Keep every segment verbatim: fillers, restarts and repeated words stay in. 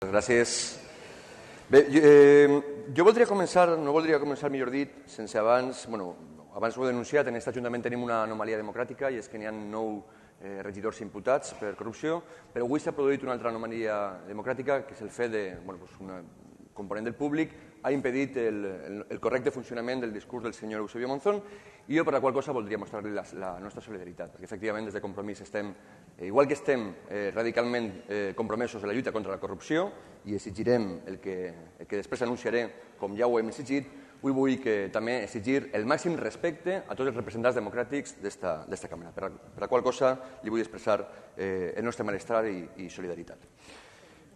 Gràcies. Bé, jo, eh, jo voldria començar, no voldria començar, millor dit, sense abans, bueno, abans ho he denunciat, en aquest Ajuntament tenim una anomalia democràtica i és que n'hi ha nou eh, regidors imputats per corrupció, però avui s'ha produït una altra anomalia democràtica, que és el fet de, bueno, pues una component del públic ha impedit el, el, el correcte funcionament del discurs del senyor Eusebio Monzón i jo per la qual cosa voldria mostrar-li la, la nostra solidaritat, perquè efectivament des de Compromís estem, eh, igual que estem eh, radicalment eh, compromesos en la lluita contra la corrupció i exigirem el que, el que després anunciaré com ja ho hem exigit, avui vull que també exigir el màxim respecte a tots els representants democràtics d'esta càmera, per la, per la qual cosa li vull expressar eh, el nostre malestar i, i solidaritat.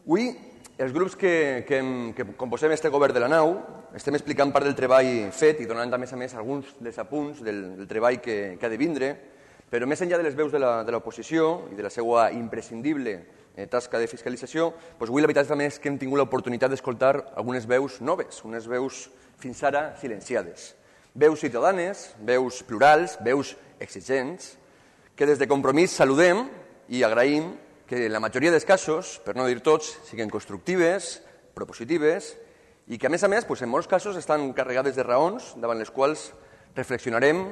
Avui, els grups que, que, que composem este govern de la nau estem explicant part del treball fet i donant, a més a més, alguns dels apunts del, del treball que, que ha de vindre, però més enllà de les veus de l'oposició i de la seva imprescindible eh, tasca de fiscalització, doncs avui la veritat també és que hem tingut l'oportunitat d'escoltar algunes veus noves, unes veus fins ara silenciades. Veus ciutadanes, veus plurals, veus exigents, que des de Compromís saludem i agraïm que en la majoria dels casos, per no dir tots, siguin constructives, propositives i que, a més a més, en molts casos estan carregades de raons davant les quals reflexionarem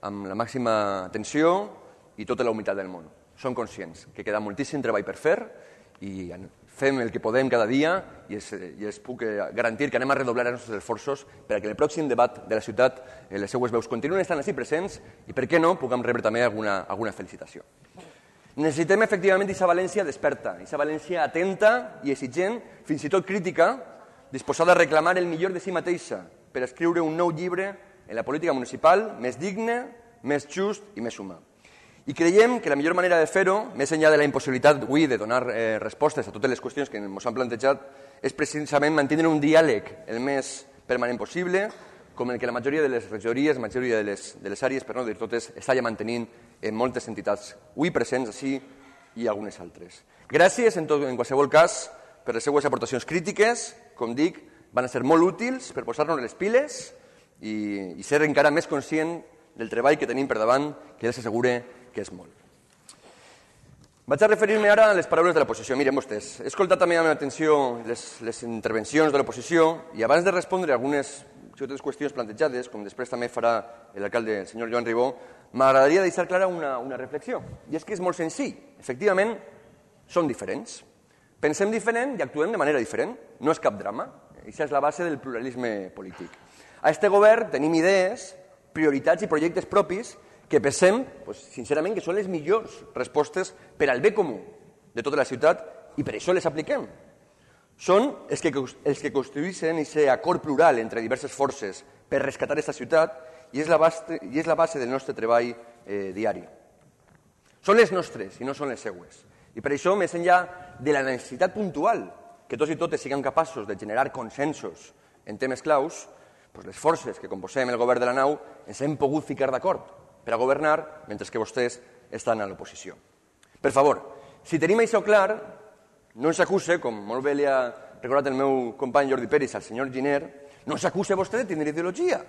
amb la màxima atenció i tota la humitat del món. Som conscients que queda moltíssim treball per fer i fem el que podem cada dia i es puc garantir que anem a redoblar els nostres esforços perquè en el pròxim debat de la ciutat les seues veus continuen estant així presents i, per què no, puguem rebre també alguna felicitació. Necessitem, efectivament, aquesta València desperta, aquesta València atenta i exigent, fins i tot crítica, disposada a reclamar el millor de si mateixa per escriure un nou llibre en la política municipal més digne, més just i més humà. I creiem que la millor manera de fer-ho, més enllà de la impossibilitat avui de donar eh, respostes a totes les qüestions que ens han plantejat, és precisament mantenir un diàleg el més permanent possible, com el que la majoria de les regidories, la majoria de les, de les àrees, per no dir totes, està ja mantenint en moltes entitats avui presents així i algunes altres. Gràcies, en, tot, en qualsevol cas, per les seues aportacions crítiques, com dic, van a ser molt útils per posar-nos les piles i, i ser encara més conscient del treball que tenim per davant, que ja s'assegure que és molt. Vaig a referir-me ara a les paraules de l'oposició. Miren vostès, he escoltat també amb atenció les, les intervencions de l'oposició i abans de respondre algunes altres qüestions plantejades, com després també farà l'alcalde, el senyor Joan Ribó, m'agradaria deixar clara una, una reflexió. I és que és molt senzill. Efectivament, som diferents. Pensem diferent i actuem de manera diferent. No és cap drama. Això és la base del pluralisme polític. A este govern tenim idees, prioritats i projectes propis que pensem, pues, sincerament, que són les millors respostes per al bé comú de tota la ciutat i per això les apliquem. Són els que, els que construïssin aquest acord plural entre diverses forces per rescatar aquesta ciutat i és la base, i és la base del nostre treball eh, diari. Són les nostres i no són les seues. I per això, més enllà de la necessitat puntual que tots i totes siguem capaços de generar consensos en temes claus, doncs les forces que composem el govern de la nau ens hem pogut ficar d'acord per a governar mentre que vostès estan a l'oposició. Per favor, si tenim això clar, no ens acuse, com molt bé li ha recordat el meu company Jordi Peris al senyor Giner, no ens acuse vostè de tindre ideologia,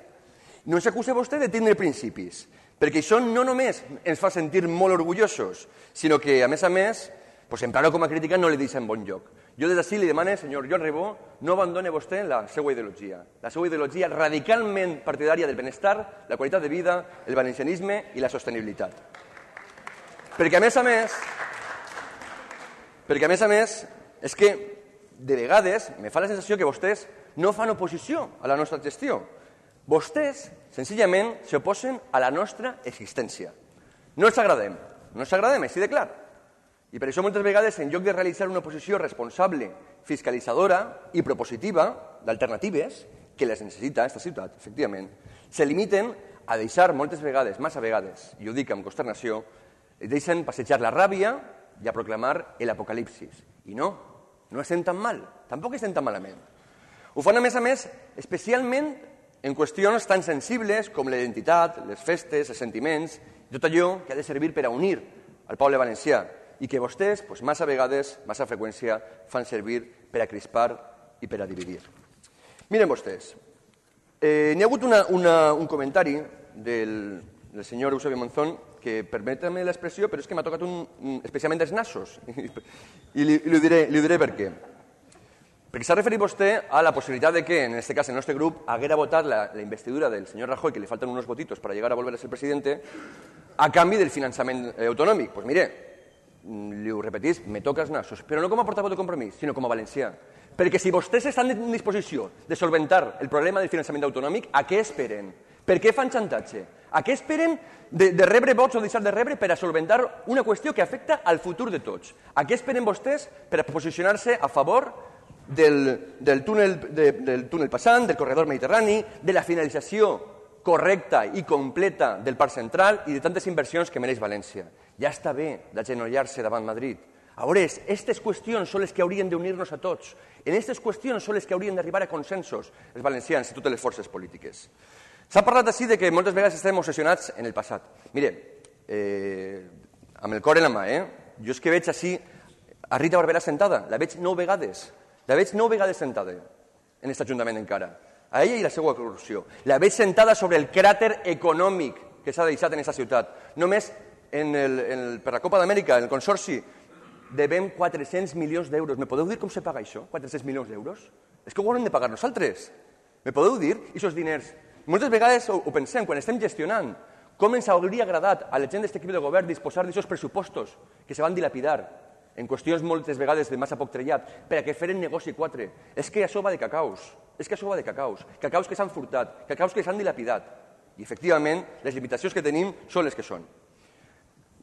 no ens acuse vostè de tindre principis, perquè això no només ens fa sentir molt orgullosos, sinó que, a més a més, pues, emprar-ho com a crítica no li deixa en bon lloc. Jo des d'ací li demane, senyor Joan Ribó, no abandone vostè la seva ideologia, la seva ideologia radicalment partidària del benestar, la qualitat de vida, el valencianisme i la sostenibilitat. Perquè, a més a més, perquè, a més a més, és que de vegades me fa la sensació que vostès no fan oposició a la nostra gestió. Vostès, senzillament, s'oposen a la nostra existència. No els agradem, no els agradem, així de clar. I per això moltes vegades, en lloc de realitzar una oposició responsable, fiscalitzadora i propositiva d'alternatives, que les necessita aquesta ciutat, efectivament, se limiten a deixar moltes vegades, massa vegades, i ho dic amb consternació, deixen passejar la ràbia i a proclamar l'apocalipsis. I no, no estem tan mal, tampoc estem tan malament. Ho fan, a més a més, especialment en qüestions tan sensibles com la identitat, les festes, els sentiments, i tot allò que ha de servir per a unir el poble valencià i que vostès, doncs, massa vegades, massa freqüència, fan servir per a crispar i per a dividir. Miren vostès, eh, n'hi ha hagut una, una, un comentari del, del senyor Eusebio Monzón que, permeta-me l'expressió, però és que m'ha tocat un, especialment dels nassos, i li, li, ho diré, li ho diré per què. Perquè s'ha referit vostè a la possibilitat de que, en aquest cas, el nostre grup haguera votat la, la investidura del senyor Rajoy, que li falten unos votitos para llegar a volver a ser presidente, a canvi del finançament eh, autonòmic. Pues mire, li ho repetís, me tocas nassos, però no com a portaveu de Compromís, sinó com a valencià. Perquè si vostès estan en disposició de solventar el problema del finançament autonòmic, a què esperen? Per què fan xantatge? A què esperen de, de rebre vots o deixar de rebre per a solventar una qüestió que afecta al futur de tots? A què esperen vostès per a posicionar-se a favor del, del, túnel, de, del túnel passant, del corredor mediterrani, de la finalització correcta i completa del Parc Central i de tantes inversions que mereix València? Ja està bé d'agenollar-se davant Madrid. A veure, aquestes qüestions són les que haurien d'unir-nos a tots. En aquestes qüestions són les que haurien d'arribar a consensos els valencians i totes les forces polítiques. S'ha parlat així de que moltes vegades estem obsessionats en el passat. Mire, eh, amb el cor en la mà, eh? Jo és que veig així a Rita Barberà sentada, la veig nou vegades, la veig nou vegades sentada en aquest Ajuntament encara, a ella i la seva corrupció. La veig sentada sobre el cràter econòmic que s'ha deixat en aquesta ciutat. Només en el, en el, per la Copa d'Amèrica, en el Consorci, devem quatre-cents milions d'euros. Me podeu dir com se paga això, quatre-cents milions d'euros? És que ho haurem de pagar nosaltres. Me podeu dir aquests diners? Moltes vegades ho, ho pensem, quan estem gestionant, com ens hauria agradat a la gent d'aquest equip de govern disposar d'aquests pressupostos que se van dilapidar en qüestions moltes vegades de massa poc trellat, per a que feren negoci quatre. És que això va de cacaus, és que això va de cacaus, cacaus que s'han furtat, cacaus que s'han dilapidat. I, efectivament, les limitacions que tenim són les que són.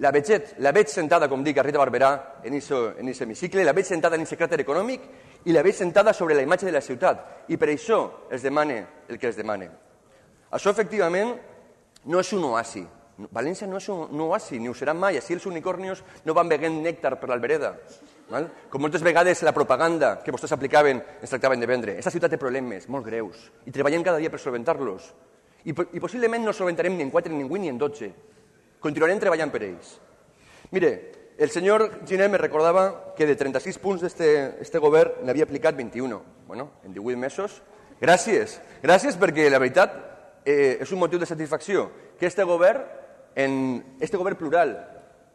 La veig, la veig sentada, com dic, a Rita Barberà en aquest hemicicle, la veig sentada en aquest cràter econòmic i la veig sentada sobre la imatge de la ciutat. I per això es demana el que es demana. Això, efectivament, no és un oasi. València no és un oasi, ni ho serà mai. Així els unicornios no van beguent nèctar per l'Albereda. Com moltes vegades la propaganda que vostès aplicaven ens tractaven de vendre. Aquesta ciutat té problemes molt greus i treballem cada dia per solventar-los. I, I possiblement no solventarem ni en quatre, ni en vuit, ni en dotze. Continuarem treballant per ells. Mire, el senyor Giner me recordava que de trenta-sis punts d'aquest govern n'havia aplicat vint-i-un. Bueno, en divuit mesos. Gràcies. Gràcies perquè, la veritat, eh, és un motiu de satisfacció que este govern, en este govern plural,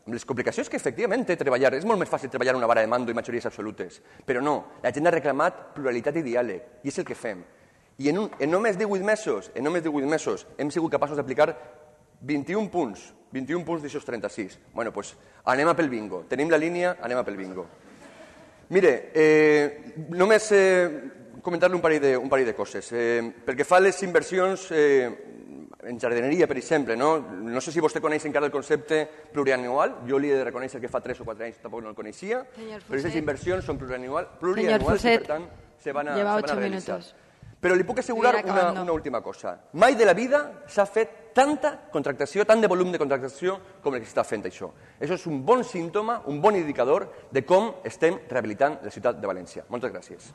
amb les complicacions que efectivament té treballar, és molt més fàcil treballar una vara de mando i majories absolutes, però no, la gent ha reclamat pluralitat i diàleg, i és el que fem. I en, un, en només divuit mesos, en només divuit mesos, hem sigut capaços d'aplicar vint-i-un punts, vint-i-un punts d'aquests trenta-sis. Bueno, doncs anem a pel bingo. Tenim la línia, anem a pel bingo. Mire, eh, només eh, comentar-li un parell de, un parell de coses. Eh, pel que fa a les inversions eh, en jardineria, per exemple, no? No sé si vostè coneix encara el concepte plurianual. Jo li he de reconèixer que fa tres o quatre anys tampoc no el coneixia. Però aquestes inversions són plurianual, plurianuals i, per tant, se van a, se van a realitzar. Minutos. Però li puc assegurar una, una última cosa. Mai de la vida s'ha fet tanta contractació, tant de volum de contractació com el que s'està fent això. Això és un bon símptoma, un bon indicador de com estem rehabilitant la ciutat de València. Moltes gràcies.